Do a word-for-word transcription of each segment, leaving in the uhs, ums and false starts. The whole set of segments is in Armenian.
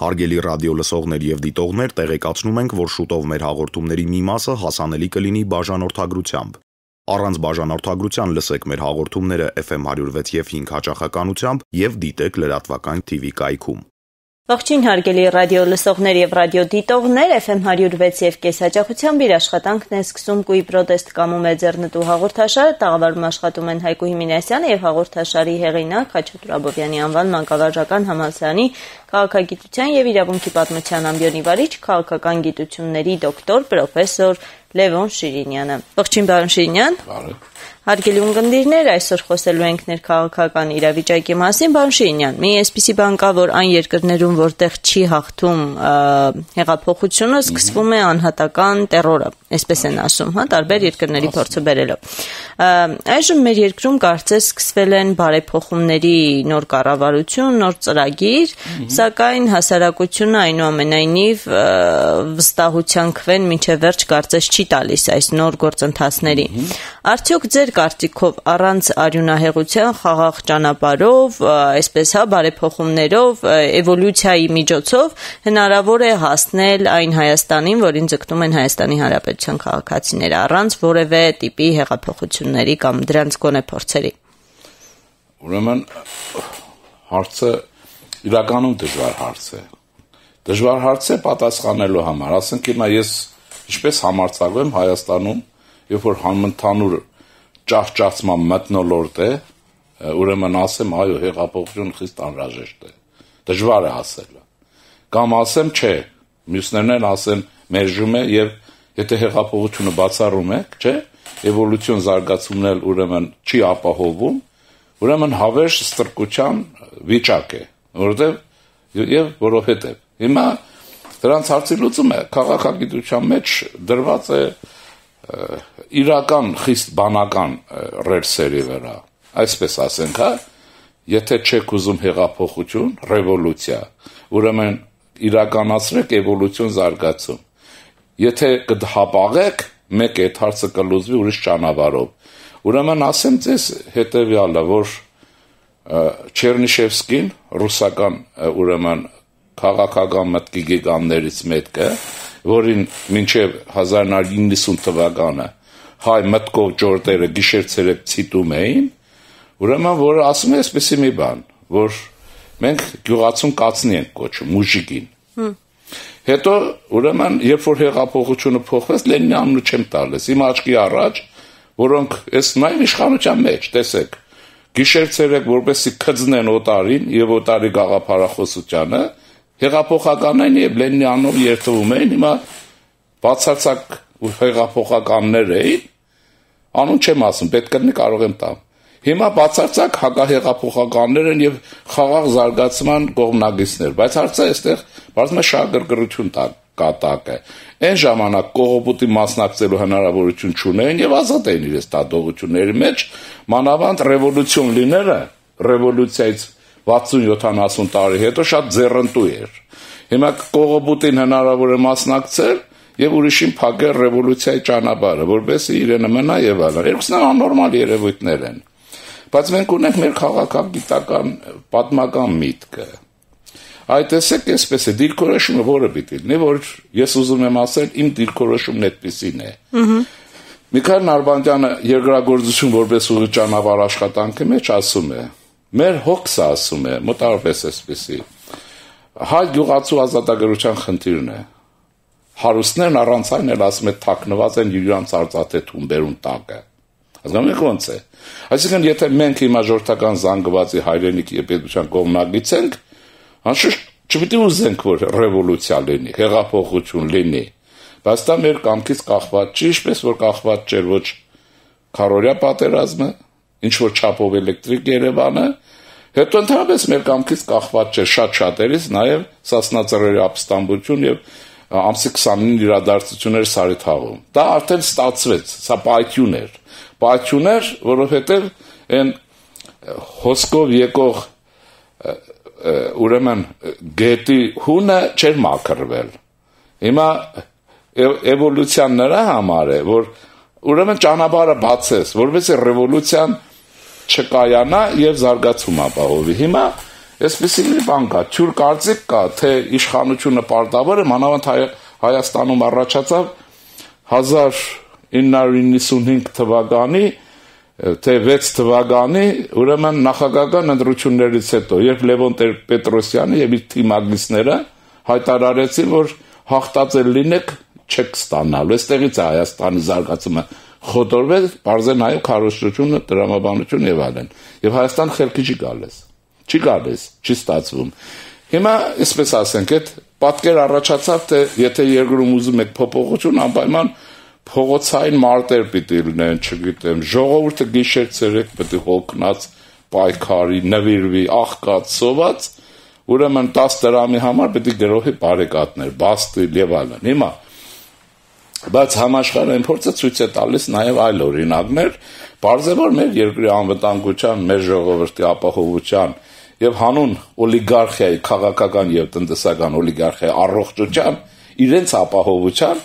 Հարգելի ռադիո լսողներ եւ դիտողներ, տեղեկացնում ենք, որ շուտով մեր հաղորդումների մի մասը հասանելի կլինի բաժանորդագրությամբ։ Առանց բաժանորդագրության լսեք մեր հաղորդումները Էֆ Էմ one oh six եւ five հաճախականությամբ եւ դիտեք լրատվական Թի Վի կայքում։ Ողջույն հարգելի ռադիո լսողներ եւ ռադիո դիտողներ, Էֆ Էմ one oh six եւ կես հաճախությամբ իր աշխատանքն է սկսում Կույ պրոտեստ կամում է ձեռնտու հաղորդաշարը, տաղավարում աշխատում են Հայկու Հիմինասյանը եւ հաղորդաշարի հեղինակ Խաչատուր Աբովյանի անվան մանկավարժական համալսարանի քաղաքագիտության եւ իրավունքի պատմության ամբիոնի վարիչ, քաղաքական գիտությունների դոկտոր, պրոֆեսոր Լևոն Շիրինյանը։ Ողջույն պարոն Շիրինյան։ Բարև։ Հարգելի ունկնդիրներ, այսօր խոսելու ենք ներքաղաքական իրավիճակի մասին, պարոն Շիրինյան։ Մի այսպիսի բան կա, որ այն երկրներում, որտեղ չի հաղթում հեղափոխությունը, սկսվում է անհատական տերորը, այսպես են ասում, հա, տարբեր երկրների փորձը բերելով։ Այժմ մեր երկրում կարծես սկսվել են բարեփոխումների նոր կառավարություն, նոր ծրագիր, սակայն հասարակությունը այնուամենայնիվ վստահության քվեն մինչև վերջ կարծես չի տալիս այս նոր գործընթացներին։ Արդյոք ձեր կարծիքով առանց արյունահեղության խաղաղ ճանապարհով, այսպես հա, բարեփոխումներով, էվոլյուցիայի միջոցով հնարավոր է հասնել այն Հայաստանին, որին ձգտում են Հայաստանի Հանրապետության քաղաքացիները, առանց որևէ տիպի հեղափոխությունների կամ դրանց գոնե փորձերի։ Ուրեմն հարցը իրականում դժվար հարց է։ Դժվար հարց է պատասխանելու համար, ասենք հիմա ես ինչպես համարձակվեմ Հայաստանում, երբ որ համընդհանուր ճահճացման մթնոլորտ է, ուրեմն ասեմ, այո, հեղափոխություն խիստ անհրաժեշտ է։ Դժվար է ասելը։ Կամ ասեմ, չէ, մյուսներն ասեն, մերժում է եւ եթե հեղափոխությունը բացառում եք, չէ, էվոլյուցիոն զարգացումն էլ ուրեմն չի ապահովում, ուրեմն հավերժ ստրկության վիճակ է, որովհետեւ եւ որովհետեւ հիմա դրանց հարցի լուծումը քաղաքագիտության մեջ դրված է իրական խիստ բանական ռելսերի վրա, այսպես ասենք, հա, եթե չեք ուզում հեղափոխություն, ռևոլյուցիա, ուրեմն իրականացրեք էվոլյուցիոն զարգացում։ Եթե կհապաղեք, մեկ է այդ հարցը կլուծվի ուրիշ ճանապարհով։ Ուրեմն ասեմ ձեզ հետեւյալը, որ Չերնիշևսկին, ռուսական ուրեմն քաղաքական մտքի գիգաններից մեկը, որին մինչև հազար նոր իննսուն թվականը հայ մտքով ճորտերը գիշեր-ցերեկ ցիտում էին, ուրեմն որ ասում է այսպեսի մի բան, որ մենք գյուղացուն կացնի ենք կոչում, մուժիկին։ Հետո ուրեմն երբ որ հեղափոխությունը փոխվեց, Լենինի անունը չեմ տալիս, իմ աչքի առաջ, որոնք այս նույն իշխանության մեջ, տեսեք, գիշեր-ցերեկ որպեսի քծնեն օտարին եւ օտարի գաղափարախոսությանը, հեղափոխականային եւ Լենինի անունով երթվում էին, հիմա բացարձակ հեղափոխականներ էին, անուն չեմ ասում, պետք կլինի կարող եմ տամ։ Հիմա բացարձակ հակահեղափոխականներ են եւ խաղաղ զարգացման կողմնակիցներ, բայց հարցը այստեղ բարձր շահագրգռություն կատակ է։ Այն ժամանակ կողոպուտի մասնակցելու հնարավորություն չունեին եւ ազատ էին իրենց դատողությունների մեջ, մանավանդ ռևոլյուցիոն լինելը, ռևոլյուցիայից վաթսուն յոթանասուն տարի հետո շատ ձեռնտու էր։ Հիմա կողոպուտին հնարավոր է մասնակցել եւ ուրիշին փակել ռևոլյուցիայի ճանապարհը, որովհետեւ իրենը մնա եւ այլն։ Երկուսն աննորմալ երևույթներ են։ Բայց մենք ունենք մեր քաղաքագիտական պատմական միտքը։ Այդ տեսեք, այսպես է, դիրքորոշումը որը պիտի լինի, որ ես ուզում եմ ասել, իմ դիրքորոշումն այդպեսին է։ Միքայել Նալբանդյանը երկրագործություն որպես ուղի ճանապարհ աշխատանքի մեջ ասում է, մեր հոգսը ասում է, մոտավորապես այսպեսի, հայ գյուղացու ազատագրության խնդիրն է։ Հարուստներն առանց այն էլ ասում է թաքնված են իրանց արծաթե թումբերուն տակը։ Հասկանում եք ոնց է։ Այսինքն եթե մենք հիմա ժողովրդական զանգվածի հայրենիքի եւ պետության կողմնակից ենք, անշուշտ չպիտի ուզենք, որ ռևոլյուցիա լինի, հեղափոխություն լինի, բայց դա մեր կամքից կախված չի, ինչպես որ կախված չէր ոչ քարորյա պատերազմը, ինչ որ չափով էլեկտրիկ Երևանը, հետո ընդհանրապես մեր կամքից կախված չէր շատ շատերից նաեւ Սասնա-Ծռերի ապստամբություն եւ ամսի քսանինը իրադարձություններ Սարիթաղում։ Դա արդեն ստացվեց, սա պայթյուն էր։ Պայթյուն էր, որովհետեւ այն հոսքով եկող ուրեմն գետի հունը չէր մաքրվել։ Հիմա էվոլյուցիան նրա համար է, որ ուրեմն ճանապարհը բացես, որովհետեւ ռևոլյուցիան չկայանա եւ զարգացում ապահովի։ Հիմա Այսպեսի մի բան կա, թյուր կարծիք կա, թե իշխանությունը պարտավոր է, մանավանդ Հայաստանում առաջացավ հազար ինը հարյուր նվաթ թվականի թե վեց թվականի ուրեմն նախագահական ընտրություններից հետո, երբ Լևոն Տեր-Պետրոսյանը եւ իր թիմագնիցները հայտարարեցին, որ հաղթած է լինեք, չեք ստանալու։ Այստեղից է Հայաստանի զարգացումը խոտորվել, բարձր նաեւ քարոզչությունը, դրամաբանություն եւ այլն։ Եվ Հայաստան խելքի չի գալիս։ Չի գալիս, չի ստացվում։ Հիմա, այսպես ասենք, այդ պատկեր առաջացավ, թե եթե երկրում ուզում եք փոփոխություն, անպայման փողոցային մարտեր պիտի լինեն, չգիտեմ, ժողովուրդը գիշեր ցերեկ պիտի հոգնած, պայքարի, նվիրվի, աղքած, սոված, ուրեմն տասը դրամի համար պիտի գրոհի բարեկատներ, բաստիլ եւ այլն։ Հիմա բայց համաշխարհային փորձը ցույց է տալիս նաեւ այլ օրինակներ, բարձր որ մեր երկրի անվտանգության, մեր ժողովրդի ապահովության եւ հանուն օլիգարխիայի, քաղաքական եւ տնտեսական օլիգարխիայի առողջության, իրենց ապահովության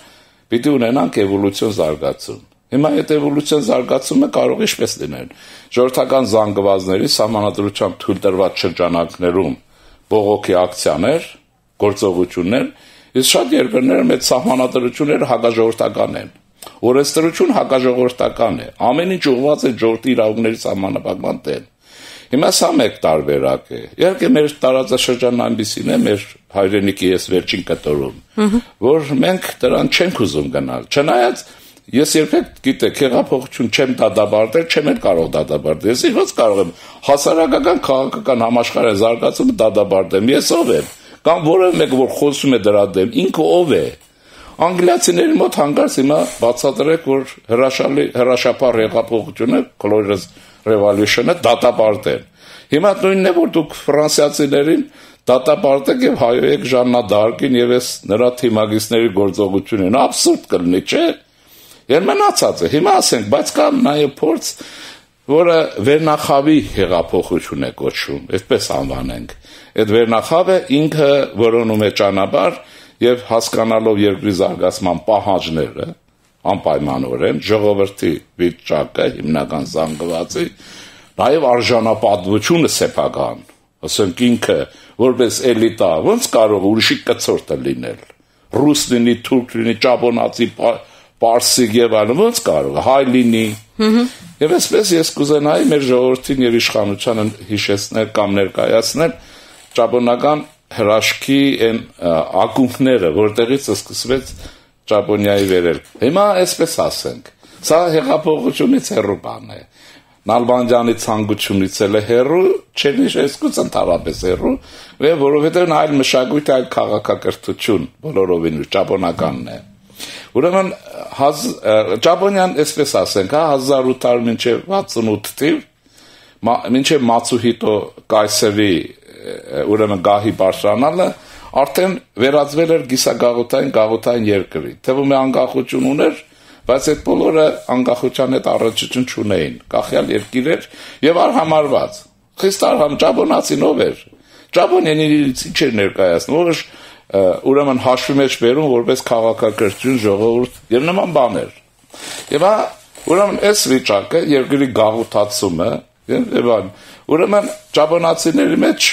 պիտի ունենանք էվոլյուցիոն զարգացում։ Հիմա այդ էվոլյուցիոն զարգացումը կարող է ինչպես լինել։ Ժողովրդական զանգվածների սահմանադրությամբ թույլ տրված շրջանակներում բողոքի ակցիաներ, գործողություններ, իսկ շատ երկրներ մեծ սահմանադրությունները հակաժողովրդական են։ Օրենսդրություն հակաժողովրդական է։ Ամեն ինչ ուղղված է ժողովրդի իրավունքների սահմանափակման դեմ։ Հիմա սա մեկ տարբերակ է։ Իհարկե մեր տարածաշրջանն այնպեսին է, մեր հայրենիքի ես վերջին կտորում, որ մենք դրան չենք ուզում գնալ։ Չնայած ես երբեք գիտեք, հեղափոխություն չեմ դադարել, չեմ էլ կարող դադարել։ Ես ո՞նց կարող եմ հասարակական քաղաքական համաշխարհային զարգացումը դադարել։ Ես ով եմ։ Կամ որևէ մեկը որ խոսում է դրա դեմ, ինքը ով է։ Անգլիացիների մոտ հանգարց հիմա բացատրեք, որ հրաշալի հրաշափառ հեղափոխությունը Colores Revolution-ը դատապարտել։ Հիմա նույնն է, որ դուք ֆրանսիացիներին դատապարտեք եւ հայոյեք Ժաննա Դարկին եւ այս նրա թիմագիստների գործողությունին։ Աբսուրդ կլինի, չէ՞։ Եվ մնացած է։ Հիմա ասենք, բայց կա նաեւ փորձ, որը վերնախավի հեղափոխություն է կոչվում, այսպես անվանենք։ Այդ վերնախավը ինքը որոնում է ճանապարհ եւ հասկանալով երկրի զարգացման պահանջները, անպայմանորեն ժողովրդի վիճակը, հիմնական զանգվածի, նաեւ արժանապատվությունը սեփական, ասենք ինքը որպես էլիտա, ոնց կարող ուրիշի կցորդը լինել։ Ռուս լինի, թուրք լինի, ճապոնացի, պարսիկ եւ այլն, ոնց կարող, հայ լինի։ Եվ այսպես ես կուզենայի մեր ժողովրդին եւ իշխանությանը հիշեցնել կամ ներկայացնել ճապոնական հրաշքի այն ակունքները, որտեղից սկսվեց Ճապոնիայի վերելք։ Հիմա այսպես ասենք, սա հեղափոխությունից հեռու բան է։ Նալբանդյանի ցանկությունից էլ է հեռու, չէ՞ այսքուց ընդհանրապես հեռու, որովհետև այլ մշակույթ, այլ քաղաքակրթություն բոլորովին ճապոնականն է։ Ուրեմն Ճապոնիան այսպես ասենք, հա հազար ութ հարյուր մինչև վաթսունութ թիվ, մինչև Մացուհիտո կայսրի ուրեմն գահի բարձրանալը արդեն վերածվել էր գիսագաղութային գաղութային երկրի։ Թվում է անկախություն ուներ, բայց այդ բոլորը անկախության հետ առնչություն չունեին։ Կախյալ երկիր էր եւ արհամարված։ Խիստ արհամ ճապոնացին ով էր։ Ճապոնիան իրից ինչ էր ներկայացնում, որ ուրեմն հաշվի մեջ բերում որպես քաղաքակրթություն, ժողովուրդ եւ նման բաներ։ Եվ հա ուրեմն այս վիճակը երկրի գաղութացումը եւ այլն։ Ուրեմն ճապոնացիների մեջ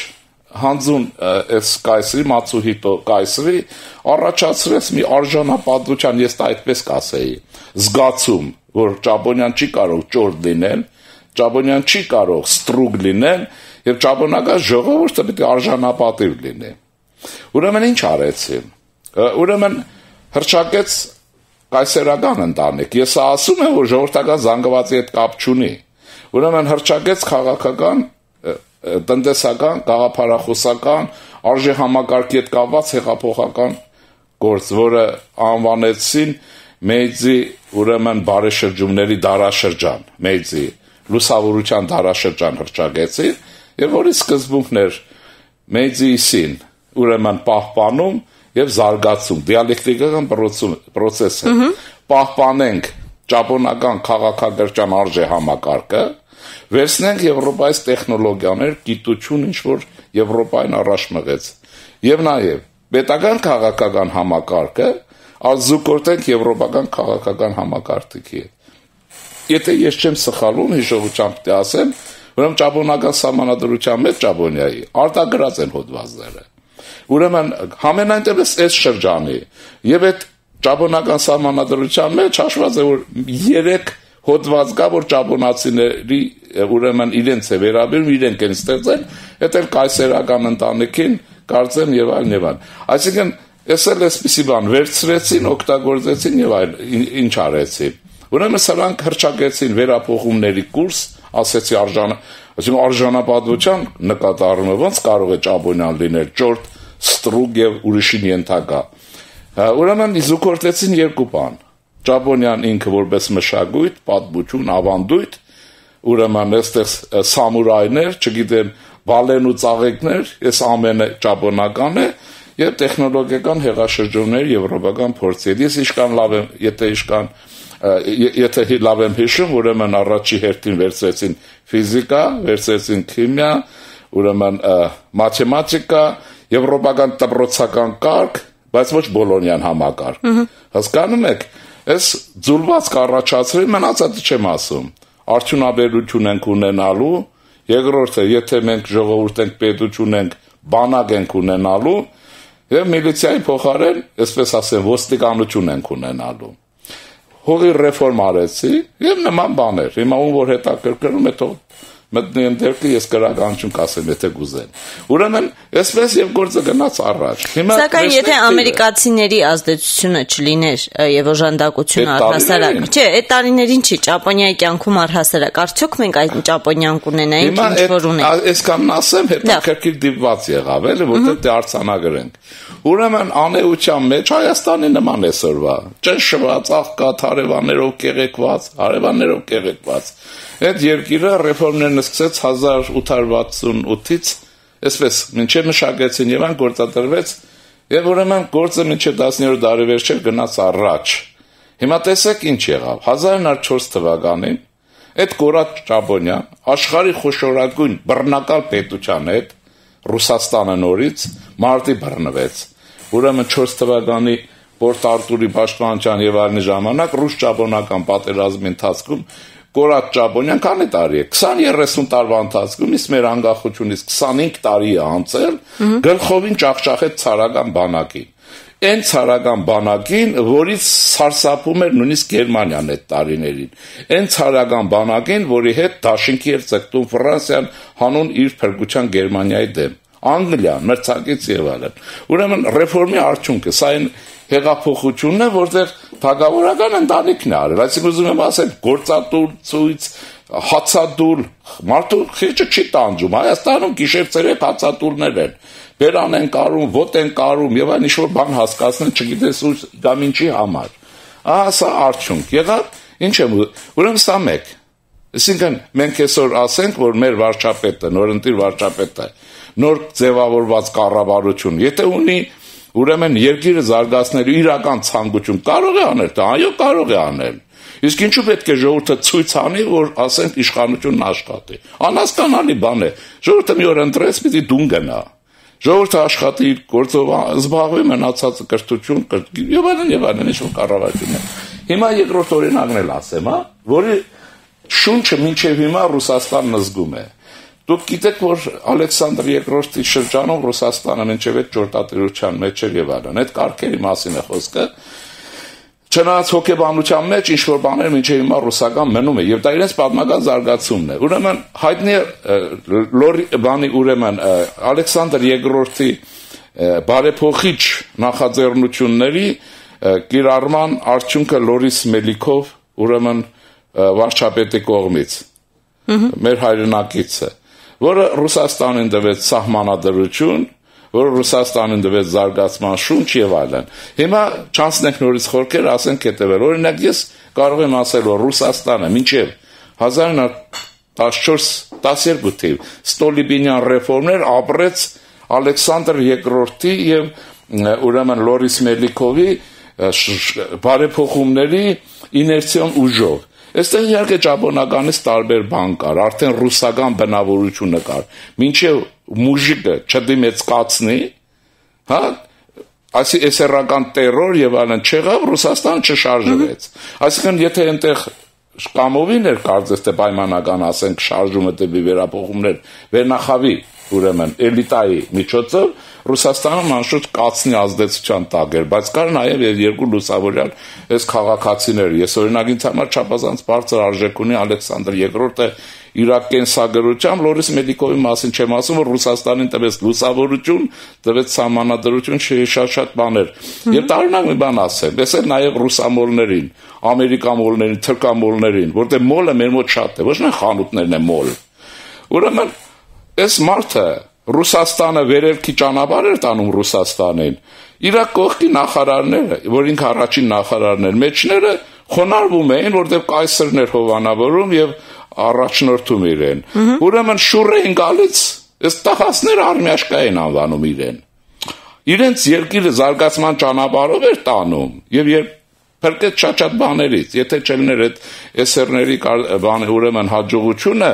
հանձուն այս կայսրի Մացուհիտո կայսրի առաջացրեց մի արժանապատվության, ես դա այդպես կասեի, զգացում, որ Ճապոնիան չի կարող ճորտ լինել, Ճապոնիան չի կարող ստրուկ լինել եւ ճապոնական ժողովուրդը պետք է արժանապատիվ լինի։ Ուրեմն ինչ արեցին։ Ուրեմն հրճակեց կայսերական ընտանիք։ Ես ասում եմ, որ ժողովրդական զանգվածի հետ կապ չունի։ Ուրեմն հրճակեց քաղաքական, տնտեսական, գաղափարախոսական, արժե համակարգի հետ կապված հեղափոխական գործ, որը անվանեցին Մեիձի ուրեմն բարեշրջումների դարաշրջան, Մեիձի լուսավորության դարաշրջան հրճակեցին, եւ որի սկզբունքն էր Մեիձիին ուրեմն պահպանում եւ զարգացում, դիալեկտիկական process է։ Պահպանենք ճապոնական քաղաքակրթության արժե համակարգը, վերցնենք Եվրոպայից տեխնոլոգիաներ, գիտություն, ինչ որ Եվրոպային առաջ մղեց։ Եվ նաեւ պետական քաղաքական համակարգը ազուկորտենք եվրոպական քաղաքական համակարգի հետ։ Եթե ես չեմ սխալվում, հիշողությամբ պիտի ասեմ, Ուրեմն ճապոնական սահմանադրության մեջ Ճապոնիայի արտագրած են հոդվածները։ Ուրեմն համենայնդեպս այս շրջանի եւ այդ ճապոնական սահմանադրության մեջ հաշված է որ երեք հոդված կա որ ճապոնացիների ուրեմն իրենց է վերաբերում իրենք են ստեղծել դա էլ կայսերական ընտանիքին կարծեմ եւ այլն եւ այլն այսինքն ես էլ էսպիսի բան վերցրեցին օգտագործեցին եւ այլ ինչ արեցին ուրեմն սրանք հրճակեցին վերափոխումների կուրս ասեցի արժան այսինքն արժանապատվության նկատառումը ոնց կարող է ճապոնիան լինել ճորտ ստրուկ եւ ուրիշին ենթակա ուրեմն իզուկորտեցին երկու բան Ճապոնիան ինքը որպես մշակույթ, պատմություն, ավանդույթ, ուրեմն այստեղ սամուրայներ, չգիտեմ, բալեն ու ծաղիկներ, այս ամենը ճապոնական է եւ տեխնոլոգիական հեղաշրջումներ եվրոպական փորձի։ Ես իշքան լավ եմ, եթե իշքան եթե լավ եմ հիշում, ուրեմն առաջի հերթին վերցրեցին ֆիզիկա, վերցրեցին քիմիա, ուրեմն մաթեմատիկա, եվրոպական դպրոցական կարգ, բայց ոչ բոլոնյան համակարգ։ Հասկանում եք Ես ձուլված կառաջացրի, մնացածը չեմ ասում։ Արդյունաբերություն ենք ունենալու, երկրորդը, եթե մենք ժողովուրդ ենք, պետություն ենք, բանակ ենք ունենալու, եւ միլիցիայի փոխարեն, այսպես ասեմ, ոստիկանություն ենք ունենալու։ Հողի ռեֆորմ արեցի, եւ նման բաներ։ Հիմա ում որ հետաքրքրում է, թող մտնի ընդերքը ես կրականություն կասեմ, եթե գուզեն։ Ուրեմն, այսպես եւ գործը գնաց առաջ։ Հիմա Սակայն եթե ամերիկացիների ազդեցությունը չլիներ եւ օժանդակությունը առհասարակ, չէ, այդ տարիներին չի, Ճապոնիայի կյանքում առհասարակ, արդյոք մենք այդ Ճապոնիան կունենայինք, ինչ որ ունենք։ Այսքանն ասեմ, հետաքրքիր դիպված եղավ, էլի, որտեղ դե արձանագրենք։ Ուրեմն անեության մեջ Հայաստանի նման է սորվա։ Ճնշված, աղքատ, հարևաններով կեղեքված, հարևաններով կեղեքված։ Այդ երկիրը ռեֆորմներն սկսեց հազար ութ հարյուր վաթսունութից, այսպես, մինչև մշակեցին եւ այն գործադրվեց, եւ ուրեմն գործը մինչև տասներորդ դարի վերջեր գնաց առաջ։ Հիմա տեսեք ինչ եղավ։ հազար ինը հարյուր չորս թվականին այդ կորած Ճապոնիան աշխարհի խոշորագույն բռնակալ պետության հետ Ռուսաստանը նորից մարտի բռնվեց։ Ուրեմն չորս թվականի Պորտ Արտուրի պաշտպանության եւ այլնի ժամանակ ռուս-ճապոնական պատերազմի ընթացքում Կորած Ճապոնիան քանի տարի է քսան երեսուն տարվա ընթացքում իսկ մեր անկախությունից քսանհինգ տարի է անցել գլխովին ճախճախեց ցարական բանակին այն ցարական բանակին որից սարսափում էր նույնիսկ Գերմանիան այդ տարիներին այն ցարական բանակին որի հետ դաշինքի էր ցկտում Ֆրանսիան հանուն իր փրկության Գերմանիայի դեմ Անգլիան մրցակից եւ այլն ուրեմն ռեֆորմի արդյունքը սա այն հեղափոխությունն է, որտեղ թագավորական ընտանիքն է արել, այսինքն ուզում եմ ասել, գործատուր, ցույց, հացադուլ, մարդու խիճը չի տանջում, Հայաստանում գիշեր-ցերեկ հացադուլներ են, բերան են կարում, ոտ են կարում, եւ այն ինչ-որ բան հասկացնել, չգիտես ու կամ ինչի համար։ Ահա սա արդյունք եղավ, ինչ եմ, ուրեմն սա մեկ։ Այսինքն մենք այսօր ասենք, որ մեր վարչապետը, նորընտիր վարչապետը, նոր ձևավորված կառավարություն, եթե ունի Ուրեմն երկիրը զարգացնելու իրական ցանկություն կարող է անել, դա այո կարող է անել։ Իսկ ինչու պետք է ժողովուրդը ցույց անի, որ ասենք իշխանությունն աշխատի։ Անհասկանալի բան է։ Ժողովուրդը մի օր ընտրեց, պիտի դուն գնա։ Ժողովուրդը աշխատի իր գործով, զբաղվի մնացածը կրթություն, եւ այլն եւ այլն, ինչ-որ կառավարություն է։ Հիմա երկրորդ օրինակն էլ ասեմ, հա, որի շունչը մինչեւ հիմա Ռուսաստանն զգում է։ Դուք գիտեք, որ Ալեքսանդր երկրորդի շրջանում Ռուսաստանը մինչև այդ ճորտատիրության մեջ էր եւ այլն։ Այդ կարգերի մասին է խոսքը։ Չնայած հոգեբանության մեջ ինչ որ բաներ մինչև հիմա ռուսական մնում է եւ դա իրենց պատմական զարգացումն է։ Ուրեմն հայտնի լորի բանի ուրեմն Ալեքսանդր երկրորդի բարեփոխիչ նախաձեռնությունների կիրառման արդյունքը Լորիս Մելիքով ուրեմն վարչապետի կողմից մեր հայրենակիցը որը Ռուսաստանին տվեց սահմանադրություն, որը Ռուսաստանին տվեց զարգացման շունչ եւ այլն։ Հիմա չանցնենք նորից խորքեր, ասենք հետեւել։ Օրինակ ես կարող եմ ասել, որ Ռուսաստանը մինչեւ հազար ինը հարյուր տասնչորս տասներկու թիվ Ստոլիբինյան ռեֆորմներ ապրեց Ալեքսանդր երկրորդի եւ ուրեմն Լորիս Մելիքովի բարեփոխումների իներցիոն ուժով։ Այստեղ իհարկե ճապոնականից տարբեր բան կար, արդեն ռուսական բնավորությունը կար։ Մինչև մուժիկը չդիմեցկացնի, հա, այսի էսերական տերոր եւ այլն չեղավ, Ռուսաստանը չշարժվեց։ Այսինքն եթե այնտեղ շկամովին էր կարծես թե պայմանական ասենք շարժումը դեպի վերափոխումներ վերնախավի ուրեմն էլիտայի միջոցով Ռուսաստանը անշուշտ կացնի ազդեցության տակ էր, բայց կար նաև եւ երկու լուսավորյալ այս քաղաքացիներ։ Ես օրինակ ինձ համար չափազանց բարձր արժեք ունի Ալեքսանդր երկրորդը Իրաք կենսագրությամբ Լորիս Մեդիկովի մասին չեմ ասում, որ Ռուսաստանին տվեց լուսավորություն, տվեց սահմանադրություն, շատ-շատ բաներ։ Եվ տարօրինակ մի բան ասեմ, ես էլ նաև ռուսամոլներին, ամերիկամոլներին, թրքամոլներին, որտեղ մոլը մեր մոտ շատ է, ոչ միայն խանութներն են մոլ։ Ուրեմն այս մարդը Ռուսաստանը վերելքի ճանապարհ էր տանում Ռուսաստանին։ Իր կողքի նախարարները, որ ինքը առաջին նախարարն էր, մեջները խոնարհվում էին, որտեղ կայսրներ հովանավորում եւ առաջնորդում իրեն։ Ուրեմն շուռ էին գալիս, այս տղասները արմյաշկա են անվանում իրեն։ Իրենց երկիրը զարգացման ճանապարհով էր տանում եւ երբ փրկեց շատ-շատ բաներից, եթե չլիներ այդ էսերների բանը ուրեմն հաջողությունը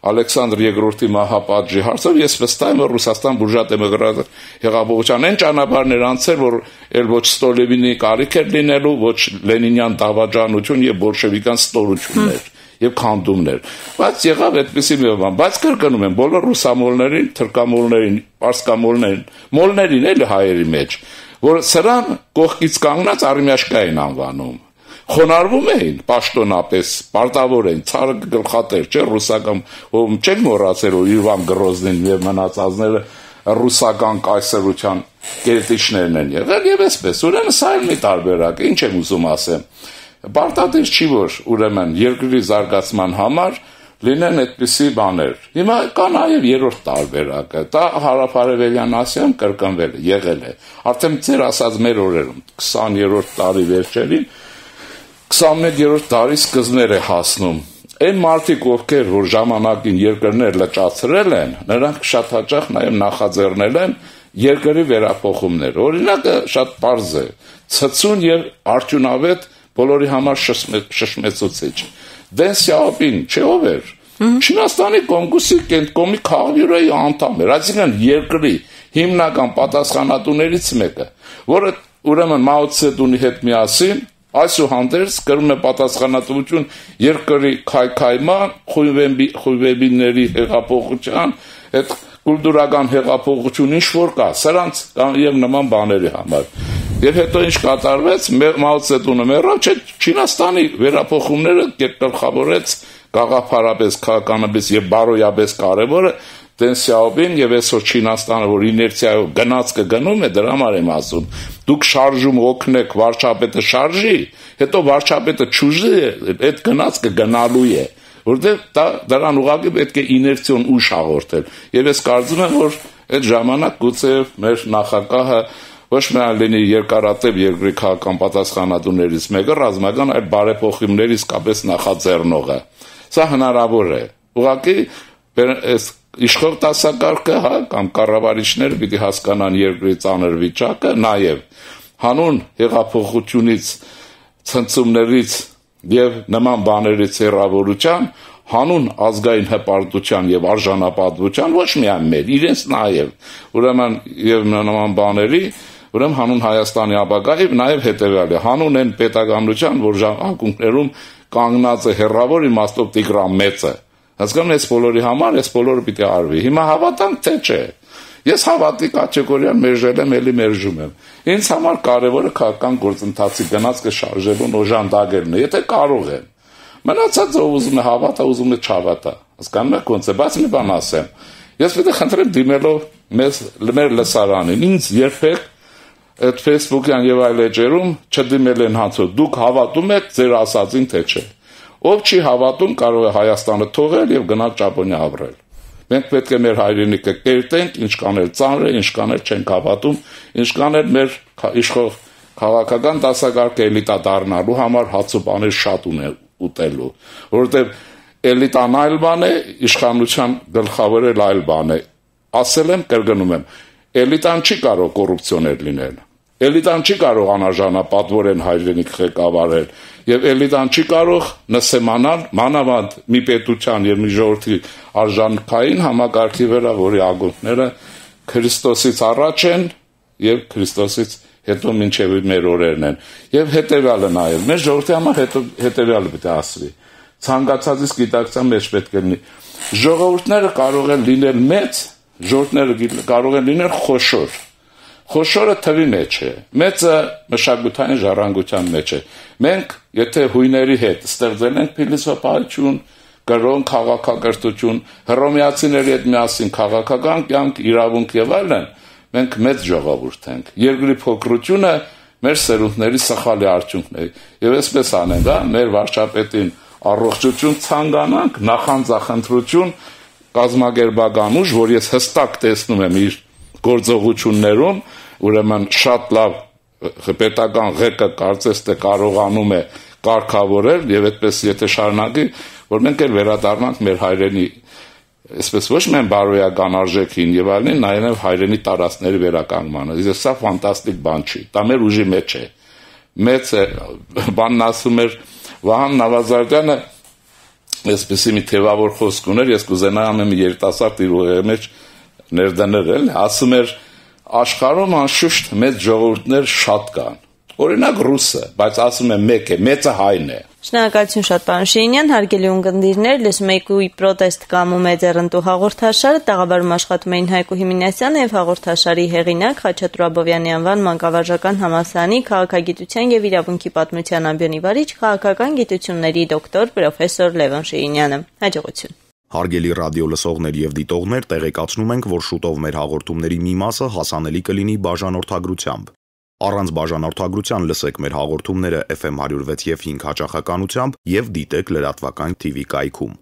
Ալեքսանդր երկրորդի մահապատժի հարցով ես վստահ եմ, որ Ռուսաստան բուրժուա դեմոկրատ հեղափոխության այն ճանապարհներ անցել, որ էլ ոչ Ստոլինի կարիք էր լինելու, ոչ Լենինյան դավաճանություն եւ բոլշևիկյան ստորություններ եւ քանդումներ։ Բայց եղավ այդպիսի մի բան, բայց կրկնում եմ, բոլոր ռուսամոլներին, թրքամոլներին, պարսկամոլներին, մոլներին էլ հայերի մեջ, որ սրան կողքից կանգնած արմյաշկա են անվանում։ Խոնարհվում էին պաշտոնապես, պարտավոր են, ցարը գլխատեր, չէ, ռուսական, ում չեն մոռացել, որ Իվան Գրոզնին եւ մնացածները ռուսական կայսրության կերտիչներն են եղել եւ այսպես։ Ուրեմն սա էլ մի տարբերակ է, ինչ եմ ուզում ասեմ։ Պարտադիր չի, որ ուրեմն երկրի զարգացման համար լինեն այդպիսի բաներ։ Հիմա կա նաև երրորդ տարբերակը, դա հարավարևելյան Ասիայում կրկնվել է, եղել է։ Արդեն ձեր ասած մեր օրերում քսաներորդ տարի վերջերին քսաներորդ տարի սկզբներ է հասնում։ Այն մարդիկ, ովքեր որ ժամանակին երկրներ լճացրել են, նրանք շատ հաճախ նաև նախաձեռնել են երկրի վերափոխումներ։ Օրինակը շատ պարզ է, ցցուն եւ արդյունավետ բոլորի համար շշմեցուցիչ։ Դեն Սյաոպին չէ ով էր։ Չինաստանի Կոմգուսի կենտկոմի քաղբյուրոյի անդամ էր, այսինքն երկրի հիմնական պատասխանատուներից մեկը, որը ուրեմն Մաո Ցեդունի հետ միասին այսուհանդերձ կրում է պատասխանատվություն երկրի քայքայման, խույվեբիների հեղափոխության, այդ կուլտուրական հեղափոխություն ինչ որ կա, սրանց եւ նման բաների համար։ Եվ հետո ինչ կատարվեց, Մաո Ցեդունը մեռավ, չէ, Չինաստանի վերափոխումները գլխավորեց գաղափարապես, քաղաքականապես եւ բարոյապես կարեւորը Դեն Սյաոպին եւ այսօր Չինաստանը, որ իներցիայով գնաց կգնում է, դրա համար եմ ասում։ Դուք շարժում օգնեք վարչապետը շարժի, հետո վարչապետը ճուժի, այդ գնաց կգնալու է, որտեղ դա դրան ուղղակի պետք է իներցիոն ուժ հաղորդել։ Եվ ես կարծում եմ, որ այդ ժամանակ գուցե մեր նախագահը ոչ միայն լինի երկարատև երկրի քաղաքական պատասխանատուներից մեկը, ռազմական այլ բարեփոխումների իսկապես նախաձեռնողը։ Սա հնարավոր է։ Ուղղակի այս իշխող դասակարգը, հա, կամ կառավարիչները պիտի հասկանան երկրի ծանր վիճակը, նաև հանուն հեղափոխությունից, ցնցումներից եւ նման բաներից հեռավորության, հանուն ազգային հպարտության եւ արժանապատվության, ոչ միայն մեր, իրենց նաև, ուրեմն եւ նման բաների, ուրեմն հանուն Հայաստանի ապագայի նաև հետեւյալը, հանուն այն պետականության, որ անկունքներում կանգնած է հերրավոր իմաստով Տիգրան Մեծը։ Հասկանում ես բոլորի համար, ես բոլորը պիտի արվի։ Հիմա հավատանք թե չէ։ Ես հավատի կատեգորիան մերժել եմ, էլի մերժում եմ։ Ինձ համար կարևորը քաղաքական գործընթացի գնացքը շարժելուն օժանդակելն է, եթե կարող եմ։ Մնացածը ով ուզում է հավատա, ուզում է չհավատա։ Հասկանում եք ոնց է, բայց մի բան ասեմ։ Ես պետք է խնդրեմ դիմելով մեզ մեր լսարանին, ինձ երբեք այդ Facebook-յան եւ այլ էջերում չդիմել են հացո։ Դուք հավատում եք ձեր ասածին թե չէ։ Ով չի հավատում, կարող է Հայաստանը թողել եւ գնալ Ճապոնիա ապրել։ Մենք պետք է մեր հայրենիքը կերտենք, ինչ կանել ծանր է, ինչ կանել չենք հավատում, ինչ կանել մեր իշխող քաղաքական դասակարգը էլիտա դառնալու համար հացուպաներ շատ ունեն ուտելու, որովհետեւ էլիտան այլ բան է, իշխանության գլխավորել այլ բան է։ Ասել եմ, կրկնում եմ, էլիտան չի կարող կոռուպցիոներ լինել։ Էլիտան չի կարող անարժանապատվորեն հայրենիք ղեկավարել եւ էլիտան չի կարող նսեմանալ մանավանդ մի պետության եւ մի ժողովրդի արժանքային համակարգի վրա, որի ակունքները Քրիստոսից առաջ են եւ Քրիստոսից հետո մինչեւ մեր օրերն են։ Եվ հետեւյալը նաեւ մեր ժողովրդի համար հետո հետեւյալը պետք է ասվի։ ցանկացածից գիտակցության մեջ պետք է լինի։ Ժողովուրդները կարող են լինել մեծ, ժողովուրդները կարող են լինել խոշոր։ Խոշորը թվի մեջ է, մեծը մշակութային ժառանգության մեջ է։ Մենք, եթե հույների հետ ստեղծել ենք փիլիսոփայություն, կրոն քաղաքակրթություն, հռոմեացիների հետ միասին քաղաքական կյանք, իրավունք եւ այլն, մենք մեծ ժողովուրդ ենք։ Երկրի փոքրությունը մեր սերունդների սխալի արդյունքն է։ Եվ այսպես անենք, հա, մեր վարչապետին առողջություն ցանկանանք, նախանձախնդրություն, կազմակերպական ուժ, որ ես հստակ տեսնում եմ իր գործողություններում, ուրեմն շատ լավ պետական ղեկը կարծես թե կարողանում է կարգավորել եւ այդպես եթե շարունակի, որ մենք էլ վերադառնանք մեր հայրենի, այսպես ոչ միայն բարոյական արժեքին եւ այլն, նաեւ հայրենի տարածքների վերականգնմանը։ Իսկ սա ֆանտաստիկ բան չի։ Դա մեր ուժի մեջ է։ Մեծ է, բանն ասում էր Վահան Նավազարդյանը, այսպեսի մի թևավոր խոսք ուներ, ես կուզենայամ իմ երիտասարդ իր ուղեղի մեջ ներդնել, ասում էր աշխարհում անշուշտ մեծ ժողովուրդներ շատ կան։ Օրինակ ռուսը, բայց ասում եմ մեկ է, մեծը հայն է։ Շնորհակալություն շատ, պարոն Շիրինյան, հարգելի ունկնդիրներ, լսում եք ու պրոտեստ կամ ու մեծեռնտու հաղորդաշարը, տաղավարում աշխատում էին Հայկու Հիմինասյանը եւ հաղորդաշարի հեղինակ Խաչատուր Աբովյանի անվան մանկավարժական համալսարանի քաղաքագիտության եւ իրավունքի պատմության ամբիոնի վարիչ, քաղաքական գիտությունների դոկտոր պրոֆեսոր Լևոն Շիրինյանը։ Հաջողություն։ Հարգելի ռադիո լսողներ եւ դիտողներ, տեղեկացնում ենք, որ շուտով մեր հաղորդումների մի մասը հասանելի կլինի բաժանորդագրությամբ։ Առանց բաժանորդագրության լսեք մեր հաղորդումները Էֆ Էմ հարյուր վեց եւ հինգ հաճախականությամբ եւ դիտեք լրատվական Թի Վի կայքում։